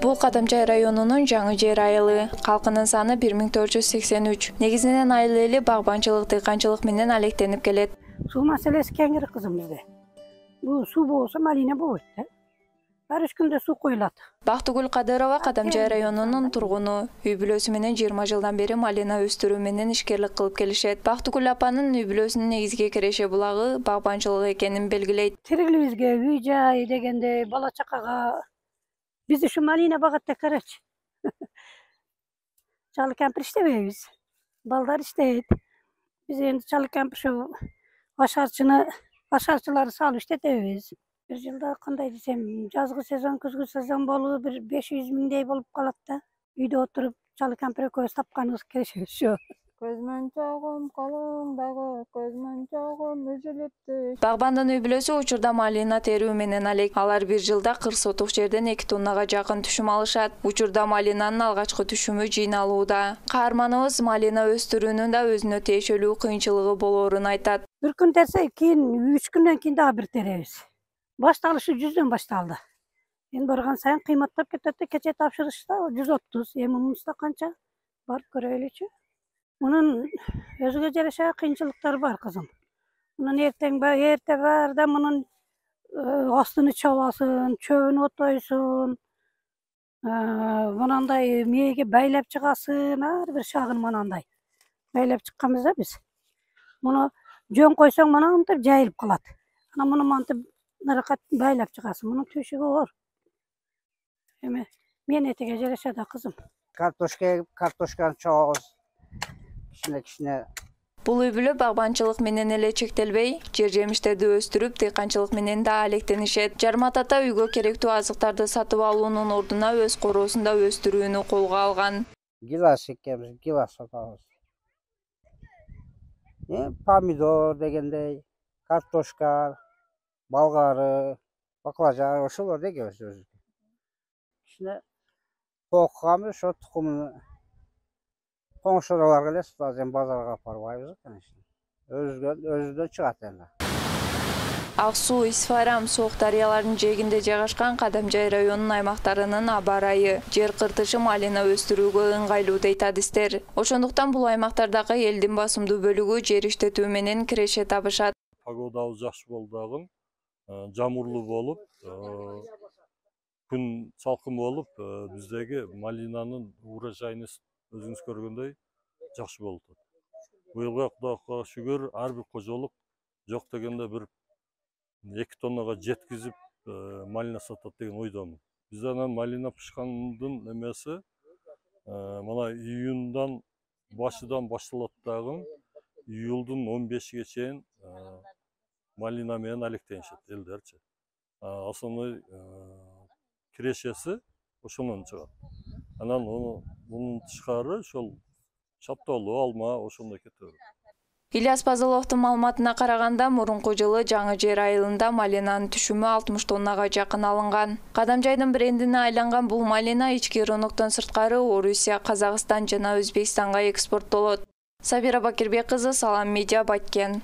Бул Кадамжай районунун Жаңы Жер айылы. Калкынын саны 1483. Негизинен айыл эли багбанчылык, дыйканчылык менен алектенип келет. Суу маселеси кеңири кызым бизде. Бул суу болсо малина болбойт да. Ар 3 күндө суу коюлат. Бактыгүл Кадырова Кадамжай районунун тургуну. Үй бүлөсү менен 20 жылдан бери малина өстүрүү менен ишкерлик кылып келишет. Бактыгүл апанын үй бүлөсүнүн негизги киреше булагы багбанчылык экенин белгилейт. Тирилибизге үй жай дегенде бала чакага биз ушу малина багат да карачы. Чалы кампир иштебейбиз. Балдар иштейт. Биз энди чалы кампир ашарчыларды салып иштетебиз. Bir жылда кандай десем, жазгы сезон, күзгү сезон болуп, bir 500 миңдей болуп калат да. Үйдө отуруп, чалы кампир экөөбүз тапканыбыз келишет ошо. Көзмөнчөгүм колуңдагы, көзмөнчөгүм үзүлүптү. Багбандын үй бүлөсү учурда малина терүү менен алек. Алар bir жылда 40 сотук жерден 2 тоннага жакын түшүм алышат. Учурда малинанын алгачкы түшүмү жыйналууда. Каарманыбыз малина өстүрүүнүн да өзүнө тиешелүү кыйынчылыгы болоорун айтат. Bir күн терсек, кийин 3 күндөн кийин дагы бир теребиз. Башталышы 100дөн башталды. Эми барган сайын кыйматтап кетет да, кече тапшырышта 130, эми мунусунда канча барып көрөлүчү. Мунун өзүгө жараша кыйынчылыктары бар кызым. Мунун эрте баарда мунун астыны чабасың, чөбүн отойсуң, мынандай мээге байлап чыгасың, ар бир шагын мынандай. Байлап чыкканбыз да биз. Муну жөн койсоң мынантип жайылып калат. Ана муну мантип наракат байлап чыгасың. Мунун төшүгү оор. Эми мен этеге жараша да кызым. Картошканы чогобуз. Кичине. Бул үй бүлө багбанчылык менен эле чектелбей, жер жемиштерди өстүрүп, дыйканчылык менен да алектенишет. Жармат ата үйгө керектүү азыктарды сатып алуунун ордуна өз короосунда өстүрүүнү колго алган. Гилас экебиз, гилас сатабыз. Помидор дегендей, картошка, болгары, баклажан ошолорду экебиз өзүбүз. Кичине токканбыз, ошо тукумун коңшуларга эле сатабыз, базарга апарбайбыз, конечно. Өзүдөн чыгат энди. Ак суу, Исфарам, Сооқ дарыяларынын жээгинде жайгашкан Кадамжай районунун аймактарынын аба ырайы жер кыртышы малина өстүрүүгө ыңгайлуу дейт адистер. Ошондуктан бул аймактардагы элдин басымдуу бөлүгү жер иштетүү менен киреше табышат. Погодабыз жакшы болду дагы, жамурлуу болуп, күн салкын болуп, биздеги малинанын урожайын өзүңүз көргөндөй жакшы болуп атат. Быйылга Кудайга шүгүр, ар бир кожолук жок дегенде bir 2 тоннага жеткизип малина сатат деген ойдомун. Биз анан малина пышкандын эмеси мына июндан башыдан башталат дагы, июлдун 15-ге чейин малина менен алектенишет элдерчи. Основной кирешеси ошондон чыгат. Анан мунун тышкары ошол шаптоолу, алма ошондой кетет. Ильяс Пазыловдун маалыматына караганда, мурунку жылы Жаңы Жер айылында малинанын түшүмү 60 тоннага жакын алынган. Кадамжайдын брендине айланган бул малина ички рыноктон сырткары Орусия, Казакстан жана Өзбекстанга экспорттолот. Сабира Бакирбек кызы, Салам Медиа, Баткен.